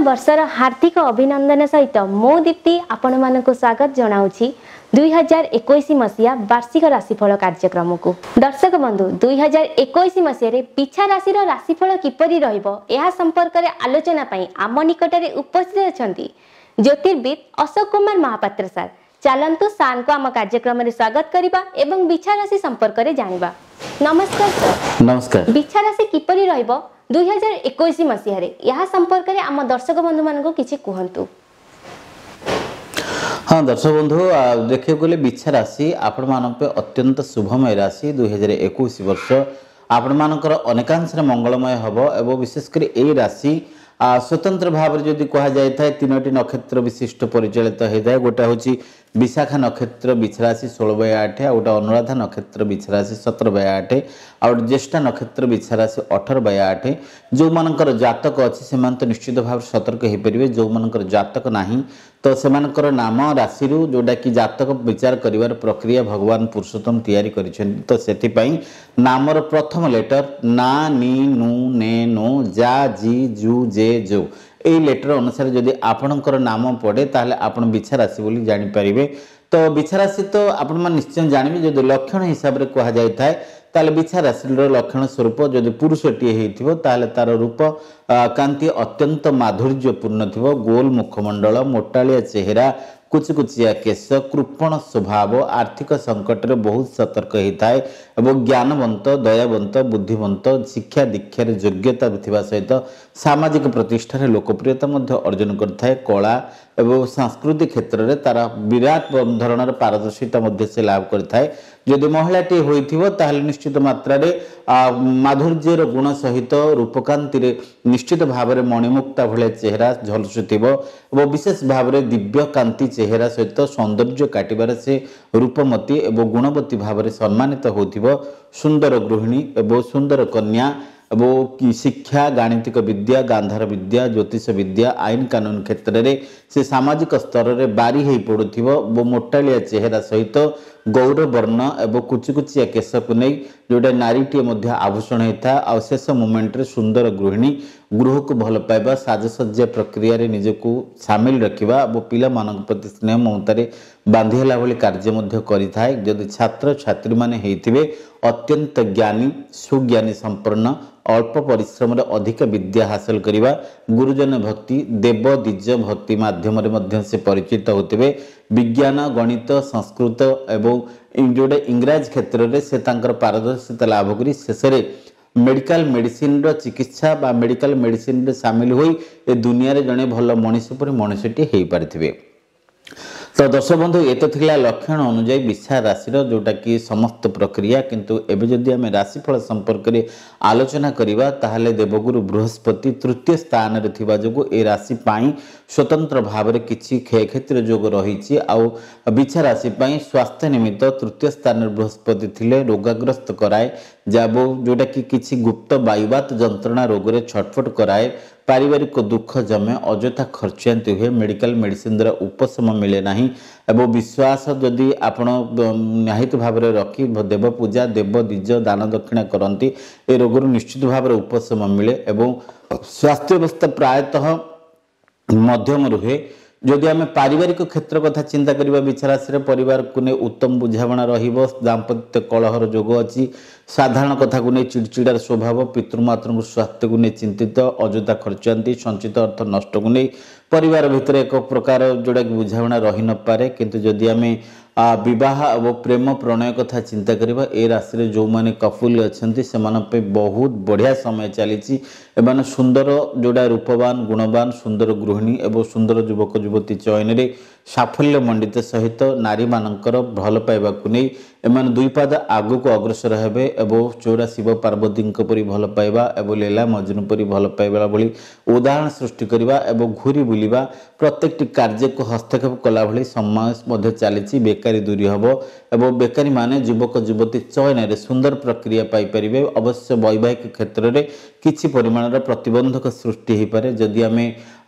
ବର୍ଷର ହାର୍ଦ୍ଦିକ ଅଭିନନ୍ଦନ ସହିତ ମୁଁ ଦୀପ୍ତି ଆପଣମାନଙ୍କୁ ସ୍ୱାଗତ ଜଣାଉଛି 2021 ମସିହା ବାର୍ଷିକ ରାଶିଫଳ କାର୍ଯ୍ୟକ୍ରମକୁ। ଦର୍ଶକ ବନ୍ଧୁ, 2021 ମସିହାରେ ବିଛା ରାଶିର ରାଶିଫଳ କିପରି ରହିବ ଏହା ସମ୍ପର୍କରେ ଆଲୋଚନା ପାଇଁ ଆମ ନିକଟରେ ଉପସ୍ଥିତ ଅଛନ୍ତି ଜ୍ୟୋତିର୍ବିଦ ଅଶୋକ କୁମାର ମହାପାତ୍ର ସାର୍। ଚାଲନ୍ତୁ ସାର୍ଙ୍କୁ ଆମ କାର୍ଯ୍ୟକ୍ରମରେ ସ୍ୱାଗତ କରିବା ଏବଂ ବିଛା ରାଶି ସମ୍ପର୍କରେ ଜାଣିବା। ନମସ୍କାର ସାର୍। ନମସ୍କାର। ବିଛା ରାଶି କିପରି ରହିବ 2021 ମସିହାରେ ଏହା ସମ୍ପର୍କରେ ଆମ ଦର୍ଶକ ବନ୍ଧୁମାନଙ୍କୁ କିଛି କୁହନ୍ତୁ। ହଁ ଦର୍ଶକ ବନ୍ଧୁ, ଦେଖିବାକୁ ଗଲେ ବିଛା ରାଶି ଆପଣମାନଙ୍କ ପାଇଁ ଅତ୍ୟନ୍ତ ଶୁଭମୟ ରାଶି। 2021 ବର୍ଷ ଆପଣମାନଙ୍କର ଅନେକାଂଶରେ ମଙ୍ଗଳମୟ ହେବ ଏବଂ ବିଶେଷ କରି ଏଇ ରାଶି ସ୍ୱତନ୍ତ୍ର ଭାବରେ ଯଦି କୁହାଯାଇଥାଏ ତିନୋଟି ନକ୍ଷତ୍ର ବିଶିଷ୍ଟ ପରିଚାଳିତ ହୋଇଥାଏ। ଗୋଟେ ହେଉଛି ବିଶାଖା ନକ୍ଷତ୍ର ବିଛା ରାଶି 16/8, ଆଉ ଗୋଟେ ଅନୁରାଧା ନକ୍ଷତ୍ର ବିଛା ରାଶି 17/8, ଆଉ ଗୋଟେ ଜ୍ୟେଷ୍ଠା ନକ୍ଷତ୍ର ବିଛା ରାଶି 18/8। ଯେଉଁମାନଙ୍କର ଜାତକ ଅଛି ସେମାନେ ତ ନିଶ୍ଚିତ ଭାବରେ ସତର୍କ ହୋଇପାରିବେ। ଯେଉଁମାନଙ୍କର ଜାତକ ନାହିଁ ତ ସେମାନଙ୍କର ନାମ ରାଶିରୁ ଯେଉଁଟାକି ଜାତକ ବିଚାର କରିବାର ପ୍ରକ୍ରିୟା ଭଗବାନ ପୁରୁଷୋତ୍ତମ ତିଆରି କରିଛନ୍ତି, ତ ସେଥିପାଇଁ ନାମର ପ୍ରଥମ ଲେଟର ନା, ନି, ନୁ, ନେ, ନୋ, ଯା, ଜି, ଜୁ, ଜେ, ଜୋ ଏଇ ଲେଟର ଅନୁସାରେ ଯଦି ଆପଣଙ୍କର ନାମ ପଡ଼େ ତାହେଲେ ଆପଣ ବିଛା ରାଶି ବୋଲି ଜାଣିପାରିବେ। ତ ବିଛା ରାଶି ତ ଆପଣମାନେ ନିଶ୍ଚୟ ଜାଣିବେ। ଯଦି ଲକ୍ଷଣ ହିସାବରେ କୁହାଯାଇଥାଏ ତାହେଲେ ବିଛା ରାଶିର ଲକ୍ଷଣ ସ୍ୱରୂପ ଯଦି ପୁରୁଷଟିଏ ହେଇଥିବ ତାହେଲେ ତାର ରୂପ କାନ୍ତି ଅତ୍ୟନ୍ତ ମାଧୁର୍ଯ୍ୟପୂର୍ଣ୍ଣ ଥିବ, ଗୋଲ ମୁଖମଣ୍ଡଳ, ମୋଟାଳିଆ ଚେହେରା, କୁଚୁକୁଚିଆ କେଶ, କୃପଣ ସ୍ୱଭାବ, ଆର୍ଥିକ ସଙ୍କଟରେ ବହୁତ ସତର୍କ ହେଇଥାଏ ଏବଂ ଜ୍ଞାନବନ୍ତ, ଦୟାବନ୍ତ, ବୁଦ୍ଧିବନ୍ତ, ଶିକ୍ଷା ଦୀକ୍ଷାରେ ଯୋଗ୍ୟତା ଥିବା ସହିତ ସାମାଜିକ ପ୍ରତିଷ୍ଠାରେ ଲୋକପ୍ରିୟତା ମଧ୍ୟ ଅର୍ଜନ କରିଥାଏ। କଳା ଏବଂ ସାଂସ୍କୃତିକ କ୍ଷେତ୍ରରେ ତାର ବିରାଟ ଧରଣର ପାରଦର୍ଶିତା ମଧ୍ୟ ସେ ଲାଭ କରିଥାଏ। ଯଦି ମହିଳାଟିଏ ହୋଇଥିବ ତାହେଲେ ନିଶ୍ଚିତ ମାତ୍ରାରେ ମାଧୁର୍ଯ୍ୟର ଗୁଣ ସହିତ ରୂପକାନ୍ତିରେ ନିଶ୍ଚିତ ଭାବରେ ମଣିମୁକ୍ତା ଭଳିଆ ଚେହେରା ଝଲସୁଥିବ ଏବଂ ବିଶେଷ ଭାବରେ ଦିବ୍ୟକାନ୍ତି ଚେହେରା ସହିତ ସୌନ୍ଦର୍ଯ୍ୟ କାଟିବାରେ ସେ ରୂପମତୀ ଏବଂ ଗୁଣବତୀ ଭାବରେ ସମ୍ମାନିତ ହେଉଥିବ। ସୁନ୍ଦର ଗୃହିଣୀ ଏବଂ ସୁନ୍ଦର କନ୍ୟା ଏବଂ ଶିକ୍ଷା, ଗାଣିତିକ ବିଦ୍ୟା, ଗାନ୍ଧାର ବିଦ୍ୟା, ଜ୍ୟୋତିଷ ବିଦ୍ୟା, ଆଇନ କାନୁନ କ୍ଷେତ୍ରରେ ସେ ସାମାଜିକ ସ୍ତରରେ ବାରି ହେଇ ପଡ଼ୁଥିବ ଏବଂ ମୋଟାଳିଆ ଚେହେରା ସହିତ ଗୌରବର୍ଣ୍ଣ ଏବଂ କୁଚୁକୁଚିଆ କେଶକୁ ନେଇ ଯେଉଁଟା ନାରୀଟିଏ ମଧ୍ୟ ଆଭୂଷଣ ହେଇଥାଏ। ଆଉ ଶେଷ ମୁମେଣ୍ଟରେ ସୁନ୍ଦର ଗୃହିଣୀ, ଗୃହକୁ ଭଲ ପାଇବା, ସାଜସଜ୍ଜା ପ୍ରକ୍ରିୟାରେ ନିଜକୁ ସାମିଲ ରଖିବା ଏବଂ ପିଲାମାନଙ୍କ ପ୍ରତି ସ୍ନେହ ମମତାରେ ବାନ୍ଧି ହେଲା ଭଳି କାର୍ଯ୍ୟ ମଧ୍ୟ କରିଥାଏ। ଯଦି ଛାତ୍ରଛାତ୍ରୀମାନେ ହେଇଥିବେ ଅତ୍ୟନ୍ତ ଜ୍ଞାନୀ, ସୁଜ୍ଞାନୀ ସମ୍ପନ୍ନ, ଅଳ୍ପ ପରିଶ୍ରମରେ ଅଧିକ ବିଦ୍ୟା ହାସଲ କରିବା, ଗୁରୁଜନ ଭକ୍ତି, ଦେବ ଦ୍ୱିଜ ଭକ୍ତି ମାଧ୍ୟମରେ ମଧ୍ୟ ସେ ପରିଚିତ ହେଉଥିବେ। ବିଜ୍ଞାନ, ଗଣିତ, ସଂସ୍କୃତ ଏବଂ ଯେଉଁଟା ଇଂରାଜୀ କ୍ଷେତ୍ରରେ ସେ ତାଙ୍କର ପାରଦର୍ଶିତା ଲାଭ କରି ଶେଷରେ ମେଡ଼ିକାଲ ମେଡ଼ିସିନର ଚିକିତ୍ସା ବା ମେଡ଼ିକାଲ ମେଡ଼ିସିନରେ ସାମିଲ ହୋଇ ଏ ଦୁନିଆରେ ଜଣେ ଭଲ ମଣିଷ ପରି ମଣିଷଟିଏ ହେଇପାରିଥିବେ। ତ ଦର୍ଶକ ବନ୍ଧୁ, ଏ ତ ଥିଲା ଲକ୍ଷଣ ଅନୁଯାୟୀ ବିଛା ରାଶିର ଯେଉଁଟାକି ସମସ୍ତ ପ୍ରକ୍ରିୟା। କିନ୍ତୁ ଏବେ ଯଦି ଆମେ ରାଶିଫଳ ସମ୍ପର୍କରେ ଆଲୋଚନା କରିବା ତାହେଲେ ଦେବଗୁରୁ ବୃହସ୍ପତି ତୃତୀୟ ସ୍ଥାନରେ ଥିବା ଯୋଗୁଁ ଏ ରାଶି ପାଇଁ ସ୍ୱତନ୍ତ୍ର ଭାବରେ କିଛି କ୍ଷୟକ୍ଷତିର ଯୋଗ ରହିଛି। ଆଉ ବିଛା ରାଶି ପାଇଁ ସ୍ୱାସ୍ଥ୍ୟ ନିମିତ୍ତ ତୃତୀୟ ସ୍ଥାନରେ ବୃହସ୍ପତି ଥିଲେ ରୋଗାଗ୍ରସ୍ତ କରାଏ, ଯେଉଁଟାକି କିଛି ଗୁପ୍ତ ବାୟୁବାତ ଯନ୍ତ୍ରଣା ରୋଗରେ ଛଟଫଟ କରାଏ, ପାରିବାରିକ ଦୁଃଖ ଜମେ, ଅଯଥା ଖର୍ଚ୍ଚାନ୍ତି ହୁଏ, ମେଡ଼ିକାଲ ମେଡ଼ିସିନ ଦ୍ୱାରା ଉପଶମ ମିଳେ ନାହିଁ ଏବଂ ବିଶ୍ୱାସ ଯଦି ଆପଣ ନିହିତ ଭାବରେ ରଖି ଦେବ ପୂଜା, ଦେବ ଦ୍ୱିଜ, ଦାନ ଦକ୍ଷିଣା କରନ୍ତି ଏ ରୋଗରୁ ନିଶ୍ଚିତ ଭାବରେ ଉପଶମ ମିଳେ ଏବଂ ସ୍ୱାସ୍ଥ୍ୟ ଅବସ୍ଥା ପ୍ରାୟତଃ ମଧ୍ୟମ ରୁହେ। ଯଦି ଆମେ ପାରିବାରିକ କ୍ଷେତ୍ର କଥା ଚିନ୍ତା କରିବା, ବିଛା ରାଶିରେ ପରିବାରକୁ ନେଇ ଉତ୍ତମ ବୁଝାମଣା ରହିବ, ଦାମ୍ପତ୍ୟ କଳହର ଯୋଗ ଅଛି, ସାଧାରଣ କଥାକୁ ନେଇ ଚିଡ଼ଚିଡ଼ାର ସ୍ୱଭାବ, ପିତୃମାତୃଙ୍କ ସ୍ୱାସ୍ଥ୍ୟକୁ ନେଇ ଚିନ୍ତିତ, ଅଯଥା ଖର୍ଚ୍ଚାନ୍ତି, ସଞ୍ଚିତ ଅର୍ଥ ନଷ୍ଟକୁ ନେଇ ପରିବାର ଭିତରେ ଏକ ପ୍ରକାର ଯେଉଁଟାକି ବୁଝାମଣା ରହିନପାରେ। କିନ୍ତୁ ଯଦି ଆମେ ବିବାହ ଏବଂ ପ୍ରେମ ପ୍ରଣୟ କଥା ଚିନ୍ତା କରିବା, ଏ ରାଶିରେ ଯେଉଁମାନେ କପୁଲ ଅଛନ୍ତି ସେମାନଙ୍କ ପାଇଁ ବହୁତ ବଢ଼ିଆ ସମୟ ଚାଲିଛି। ଏମାନେ ସୁନ୍ଦର ଯେଉଁଟା ରୂପବାନ, ଗୁଣବାନ, ସୁନ୍ଦର ଗୃହିଣୀ ଏବଂ ସୁନ୍ଦର ଯୁବକ ଯୁବତୀ ଚୟନରେ ସାଫଲ୍ୟ ମଣ୍ଡିତ ସହିତ ନାରୀମାନଙ୍କର ଭଲ ପାଇବାକୁ ନେଇ ଏମାନେ ଦୁଇ ପାଦ ଆଗକୁ ଅଗ୍ରସର ହେବେ ଏବଂ ଚଉରା ଶିବ ପାର୍ବତୀଙ୍କ ପରି ଭଲ ପାଇବା ଏବଂ ଲୀଳା ମଜନୁ ପରି ଭଲ ପାଇବା ଭଳି ଉଦାହରଣ ସୃଷ୍ଟି କରିବା ଏବଂ ଘୁରି ବୁଲିବା, ପ୍ରତ୍ୟେକଟି କାର୍ଯ୍ୟକୁ ହସ୍ତକ୍ଷେପ କଲା ଭଳି ସମୟ ମଧ୍ୟ ଚାଲିଛି। ବେକାରୀ ଦୂରୀ ହେବ ଏବଂ ବେକାରୀମାନେ ଯୁବକ ଯୁବତୀ ଚୟନରେ ସୁନ୍ଦର ପ୍ରକ୍ରିୟା ପାଇପାରିବେ। ଅବଶ୍ୟ ବୈବାହିକ କ୍ଷେତ୍ରରେ କିଛି ପରିମାଣର ପ୍ରତିବନ୍ଧକ ସୃଷ୍ଟି ହୋଇପାରେ। ଯଦି ଆମେ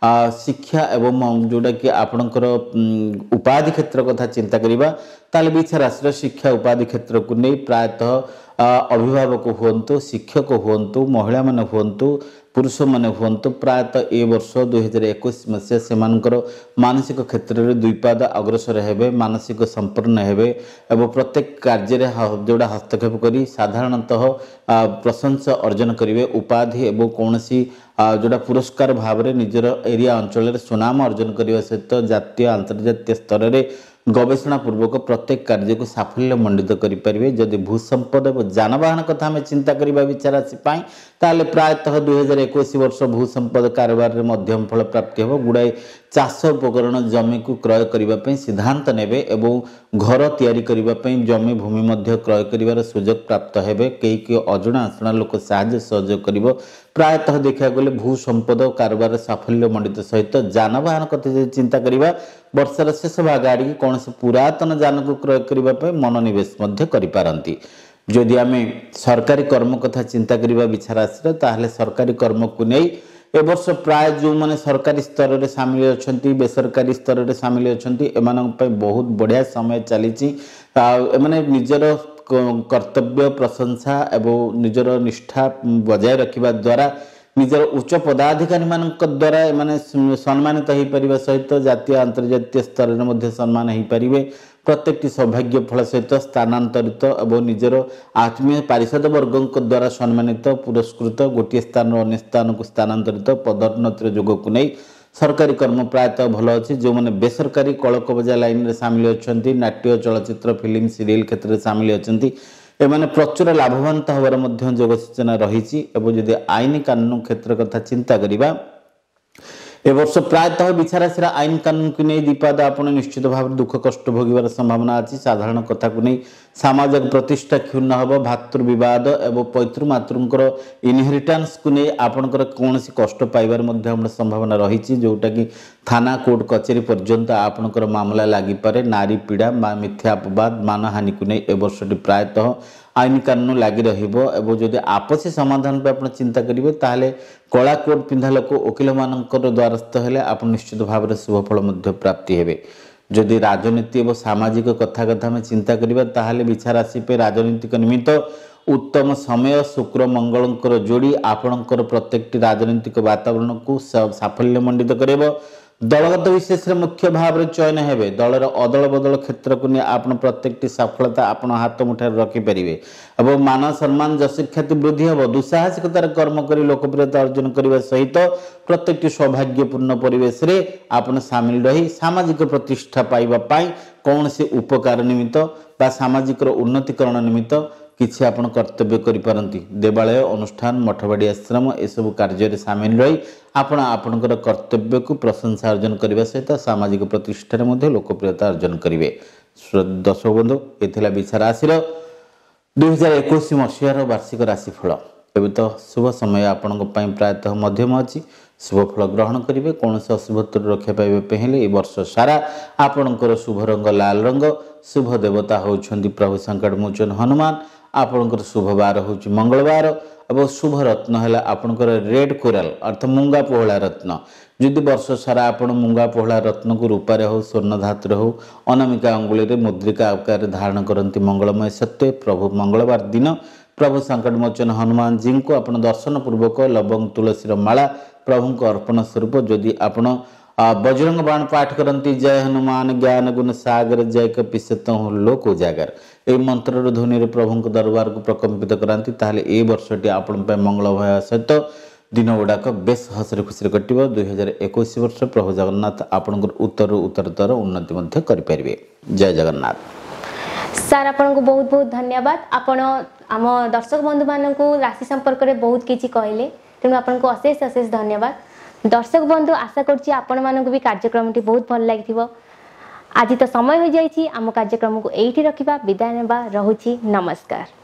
ଶିକ୍ଷା ଏବଂ ଯେଉଁଟାକି ଆପଣଙ୍କର ଉପାଧି କ୍ଷେତ୍ର କଥା ଚିନ୍ତା କରିବା ତାହେଲେ ବିଛା ରାଶିର ଶିକ୍ଷା ଉପାଧି କ୍ଷେତ୍ରକୁ ନେଇ ପ୍ରାୟତଃ ଅଭିଭାବକ ହୁଅନ୍ତୁ, ଶିକ୍ଷକ ହୁଅନ୍ତୁ, ମହିଳାମାନେ ହୁଅନ୍ତୁ, ପୁରୁଷମାନେ ହୁଅନ୍ତୁ, ପ୍ରାୟତଃ ଏ ବର୍ଷ 2021 ମସିହା ସେମାନଙ୍କର ମାନସିକ କ୍ଷେତ୍ରରେ ଦୁଇ ପାଦ ଅଗ୍ରସର ହେବେ, ମାନସିକ ସମ୍ପନ୍ନ ହେବେ ଏବଂ ପ୍ରତ୍ୟେକ କାର୍ଯ୍ୟରେ ଯେଉଁଟା ହସ୍ତକ୍ଷେପ କରି ସାଧାରଣତଃ ପ୍ରଶଂସା ଅର୍ଜନ କରିବେ। ଉପାଧି ଏବଂ କୌଣସି ଯେଉଁଟା ପୁରସ୍କାର ଭାବରେ ନିଜର ଏରିଆ ଅଞ୍ଚଳରେ ସୁନାମ ଅର୍ଜନ କରିବା ସହିତ ଜାତୀୟ ଆନ୍ତର୍ଜାତୀୟ ସ୍ତରରେ ଗବେଷଣା ପୂର୍ବକ ପ୍ରତ୍ୟେକ କାର୍ଯ୍ୟକୁ ସାଫଲ୍ୟ ମଣ୍ଡିତ କରିପାରିବେ। ଯଦି ଭୂସମ୍ପଦ ଏବଂ ଯାନବାହନ କଥା ଆମେ ଚିନ୍ତା କରିବା ବିଛା ରାଶି ପାଇଁ, ତାହେଲେ ପ୍ରାୟତଃ 2021 ବର୍ଷ ଭୂସମ୍ପଦ କାରବାରରେ ମଧ୍ୟମ ଫଳ ପ୍ରାପ୍ତି ହେବ। ଗୁଡ଼ାଏ ଚାଷ ଉପକରଣ, ଜମିକୁ କ୍ରୟ କରିବା ପାଇଁ ସିଦ୍ଧାନ୍ତ ନେବେ ଏବଂ ଘର ତିଆରି କରିବା ପାଇଁ ଜମି ଭୂମି ମଧ୍ୟ କ୍ରୟ କରିବାର ସୁଯୋଗ ପ୍ରାପ୍ତ ହେବେ। କେହି କେହି ଅଜଣା ଅଶୁଣା ଲୋକ ସାହାଯ୍ୟ ସହଯୋଗ କରିବ। ପ୍ରାୟତଃ ଦେଖିବାକୁ ଗଲେ ଭୂ ସମ୍ପଦ କାରବାରରେ ସାଫଲ୍ୟ ମଣ୍ଡିତ ସହିତ ଯାନବାହନ କଥା ଯଦି ଚିନ୍ତା କରିବା, ବର୍ଷର ଶେଷ ଭାଗ ଆଡ଼ିକି କୌଣସି ପୁରାତନ ଯାନକୁ କ୍ରୟ କରିବା ପାଇଁ ମନୋନିବେଶ ମଧ୍ୟ କରିପାରନ୍ତି। ଯଦି ଆମେ ସରକାରୀ କର୍ମ କଥା ଚିନ୍ତା କରିବା ବିଛା ରାଶିର, ତାହେଲେ ସରକାରୀ କର୍ମକୁ ନେଇ ଏ ବର୍ଷ ପ୍ରାୟ ଯେଉଁମାନେ ସରକାରୀ ସ୍ତରରେ ସାମିଲ ଅଛନ୍ତି, ବେସରକାରୀ ସ୍ତରରେ ସାମିଲ ଅଛନ୍ତି, ଏମାନଙ୍କ ପାଇଁ ବହୁତ ବଢ଼ିଆ ସମୟ ଚାଲିଛି। ଆଉ ଏମାନେ ନିଜର କର୍ତ୍ତବ୍ୟ, ପ୍ରଶଂସା ଏବଂ ନିଜର ନିଷ୍ଠା ବଜାୟ ରଖିବା ଦ୍ୱାରା ନିଜର ଉଚ୍ଚ ପଦାଧିକାରୀମାନଙ୍କ ଦ୍ୱାରା ଏମାନେ ସମ୍ମାନିତ ହୋଇପାରିବା ସହିତ ଜାତୀୟ ଆନ୍ତର୍ଜାତୀୟ ସ୍ତରରେ ମଧ୍ୟ ସମ୍ମାନ ହୋଇପାରିବେ। ପ୍ରତ୍ୟେକଟି ସୌଭାଗ୍ୟ ଫଳ ସହିତ ସ୍ଥାନାନ୍ତରିତ ଏବଂ ନିଜର ଆତ୍ମୀୟ ପାରିଷଦ ବର୍ଗଙ୍କ ଦ୍ୱାରା ସମ୍ମାନିତ, ପୁରସ୍କୃତ, ଗୋଟିଏ ସ୍ଥାନରୁ ଅନ୍ୟ ସ୍ଥାନକୁ ସ୍ଥାନାନ୍ତରିତ, ପଦୋନ୍ନତିର ଯୋଗକୁ ନେଇ ସରକାରୀ କର୍ମ ପ୍ରାୟତଃ ଭଲ ଅଛି। ଯେଉଁମାନେ ବେସରକାରୀ କଳକବଜା ଲାଇନରେ ସାମିଲ ଅଛନ୍ତି, ନାଟ୍ୟ, ଚଳଚ୍ଚିତ୍ର, ଫିଲ୍ମ, ସିରିଏଲ କ୍ଷେତ୍ରରେ ସାମିଲ ଅଛନ୍ତି, ଏମାନେ ପ୍ରଚୁର ଲାଭବାନ ହେବାର ମଧ୍ୟ ଯୋଗ ସୂଚନା ରହିଛି। ଏବଂ ଯଦି ଆଇନ କାନୁନ କ୍ଷେତ୍ର କଥା ଚିନ୍ତା କରିବା, ଏ ବର୍ଷ ପ୍ରାୟତଃ ବିଛାରାଶିର ଆଇନ କାନୁନକୁ ନେଇ ଦ୍ୱିପାଦ ଆପଣ ନିଶ୍ଚିତ ଭାବରେ ଦୁଃଖ କଷ୍ଟ ଭୋଗିବାର ସମ୍ଭାବନା ଅଛି। ସାଧାରଣ କଥାକୁ ନେଇ ସାମାଜିକ ପ୍ରତିଷ୍ଠା କ୍ଷୁଣ୍ଣ ହେବ। ଭାତୃ ବିବାଦ ଏବଂ ପୈତୃ ମାତୃଙ୍କର ଇନହେରିଟାନ୍ସକୁ ନେଇ ଆପଣଙ୍କର କୌଣସି କଷ୍ଟ ପାଇବାର ମଧ୍ୟ ଆମର ସମ୍ଭାବନା ରହିଛି, ଯେଉଁଟାକି ଥାନା କୋର୍ଟ କଚେରୀ ପର୍ଯ୍ୟନ୍ତ ଆପଣଙ୍କର ମାମଲା ଲାଗିପାରେ। ନାରୀ ପୀଡ଼ା, ମିଥ୍ୟା ଅପବାଦ, ମାନହାନିକୁ ନେଇ ଏ ବର୍ଷଟି ପ୍ରାୟତଃ ଆଇନ କାନୁନ ଲାଗି ରହିବ। ଏବଂ ଯଦି ଆପସୀ ସମାଧାନ ପାଇଁ ଆପଣ ଚିନ୍ତା କରିବେ, ତାହେଲେ କଳା କୋଟ୍ ପିନ୍ଧା ଲୋକ ଓକିଲମାନଙ୍କର ଦ୍ୱାରସ୍ଥ ହେଲେ ଆପଣ ନିଶ୍ଚିତ ଭାବରେ ଶୁଭଫଳ ମଧ୍ୟ ପ୍ରାପ୍ତି ହେବେ। ଯଦି ରାଜନୀତି ଏବଂ ସାମାଜିକ କଥା କଥା ଆମେ ଚିନ୍ତା କରିବା, ତାହେଲେ ବିଛା ରାଶି ପାଇଁ ରାଜନୈତିକ ନିମିତ୍ତ ଉତ୍ତମ ସମୟ। ଶୁକ୍ର ମଙ୍ଗଳଙ୍କର ଯୋଡ଼ି ଆପଣଙ୍କର ପ୍ରତ୍ୟେକଟି ରାଜନୈତିକ ବାତାବରଣକୁ ସାଫଲ୍ୟ ମଣ୍ଡିତ କରିବ। ଦଳଗତ ବିଶେଷରେ ମୁଖ୍ୟ ଭାବରେ ଚୟନ ହେବେ। ଦଳର ଅଦଳ ବଦଳ କ୍ଷେତ୍ରକୁ ନେଇ ଆପଣ ପ୍ରତ୍ୟେକଟି ସଫଳତା ଆପଣ ହାତ ମୁଠାରେ ରଖିପାରିବେ ଏବଂ ମାନ ସମ୍ମାନ ଯଶଖ୍ୟାତି ବୃଦ୍ଧି ହେବ। ଦୁଃସାହସିକତାର କର୍ମ କରି ଲୋକପ୍ରିୟତା ଅର୍ଜନ କରିବା ସହିତ ପ୍ରତ୍ୟେକଟି ସୌଭାଗ୍ୟପୂର୍ଣ୍ଣ ପରିବେଶରେ ଆପଣ ସାମିଲ ରହି ସାମାଜିକ ପ୍ରତିଷ୍ଠା ପାଇବା ପାଇଁ କୌଣସି ଉପକାର ନିମିତ୍ତ ବା ସାମାଜିକର ଉନ୍ନତିକରଣ ନିମିତ୍ତ କିଛି ଆପଣ କର୍ତ୍ତବ୍ୟ କରିପାରନ୍ତି। ଦେବାଳୟ, ଅନୁଷ୍ଠାନ, ମଠବାଡ଼ି, ଆଶ୍ରମ ଏସବୁ କାର୍ଯ୍ୟରେ ସାମିଲ ରହି ଆପଣ ଆପଣଙ୍କର କର୍ତ୍ତବ୍ୟକୁ ପ୍ରଶଂସା ଅର୍ଜନ କରିବା ସହିତ ସାମାଜିକ ପ୍ରତିଷ୍ଠାରେ ମଧ୍ୟ ଲୋକପ୍ରିୟତା ଅର୍ଜନ କରିବେ। ଦର୍ଶକ ବନ୍ଧୁ, ଏ ଥିଲା ବିଛା ରାଶିର 2021 ମସିହାର ବାର୍ଷିକ ରାଶିଫଳ। ଏବେ ତ ଶୁଭ ସମୟ ଆପଣଙ୍କ ପାଇଁ ପ୍ରାୟତଃ ମଧ୍ୟମ ଅଛି। ଶୁଭ ଫଳ ଗ୍ରହଣ କରିବେ। କୌଣସି ଅଶୁଭତ୍ୱରୁ ରକ୍ଷା ପାଇବା ପାଇଁ ହେଲେ ଏ ବର୍ଷ ସାରା ଆପଣଙ୍କର ଶୁଭ ରଙ୍ଗ ଲାଲ ରଙ୍ଗ, ଶୁଭ ଦେବତା ହେଉଛନ୍ତି ପ୍ରଭୁ ସଙ୍କଟମୋଚନ ହନୁମାନ, ଆପଣଙ୍କର ଶୁଭ ବାର ହେଉଛି ମଙ୍ଗଳବାର ଏବଂ ଶୁଭ ରତ୍ନ ହେଲା ଆପଣଙ୍କର ରେଡ୍ କୋରାଲ ଅର୍ଥାତ୍ ମୁଙ୍ଗା ପୋହଳା ରତ୍ନ। ଯଦି ବର୍ଷ ସାରା ଆପଣ ମୁଙ୍ଗା ପୋହଳା ରତ୍ନକୁ ରୂପାରେ ହେଉ, ସ୍ୱର୍ଣ୍ଣ ଧାତୁରେ ହେଉ, ଅନାମିକା ଅଙ୍ଗୁଳିରେ ମୁଦ୍ରିକା ଆକାରରେ ଧାରଣ କରନ୍ତି, ମଙ୍ଗଳମୟ ସତ୍ତ୍ୱେ ପ୍ରଭୁ ମଙ୍ଗଳବାର ଦିନ ପ୍ରଭୁ ସଙ୍କଟମୋଚନ ହନୁମାନଜୀଙ୍କୁ ଆପଣ ଦର୍ଶନ ପୂର୍ବକ ଲବଙ୍ଗ ତୁଳସୀର ମାଳା ପ୍ରଭୁଙ୍କ ଅର୍ପଣ ସ୍ୱରୂପ ଯଦି ଆପଣ ବଜରଙ୍ଗ ବାଣ ପାଠ କରନ୍ତି, ଜୟ ହନୁମାନ ଜ୍ଞାନ ଗୁଣ ସାଗର ଜୟ କପିସତ ଲୋକ ଉଜାଗର, ଏହି ମନ୍ତ୍ରର ଧ୍ୱନିରେ ପ୍ରଭୁଙ୍କ ଦରବାରକୁ ପ୍ରକମ୍ପିତ କରାନ୍ତି, ତାହେଲେ ଏ ବର୍ଷଟି ଆପଣଙ୍କ ପାଇଁ ମଙ୍ଗଳମୟ ସହିତ ଦିନ ଗୁଡ଼ାକ ବେଶ ହସରେ ଖୁସିରେ କଟିବ। 2021 ବର୍ଷ ପ୍ରଭୁ ଜଗନ୍ନାଥ ଆପଣଙ୍କର ଉତ୍ତରରୁ ଉତ୍ତରତର ଉନ୍ନତି ମଧ୍ୟ କରିପାରିବେ। ଜୟ ଜଗନ୍ନାଥ। ସାର୍, ଆପଣଙ୍କୁ ବହୁତ ବହୁତ ଧନ୍ୟବାଦ। ଆପଣ ଆମ ଦର୍ଶକ ବନ୍ଧୁମାନଙ୍କୁ ରାଶି ସମ୍ପର୍କରେ ବହୁତ କିଛି କହିଲେ, ତେଣୁ ଆପଣଙ୍କୁ ଅଶେଷ ଅଶେଷ ଧନ୍ୟବାଦ। ଦର୍ଶକ ବନ୍ଧୁ, ଆଶା କରୁଛି ଆପଣମାନଙ୍କୁ ବି କାର୍ଯ୍ୟକ୍ରମଟି ବହୁତ ଭଲ ଲାଗିଥିବ। ଆଜି ତ ସମୟ ହୋଇଯାଇଛି, ଆମ କାର୍ଯ୍ୟକ୍ରମକୁ ଏଇଠି ରଖିବା, ବିଦାୟ ନେବା। ରହୁଛି, ନମସ୍କାର।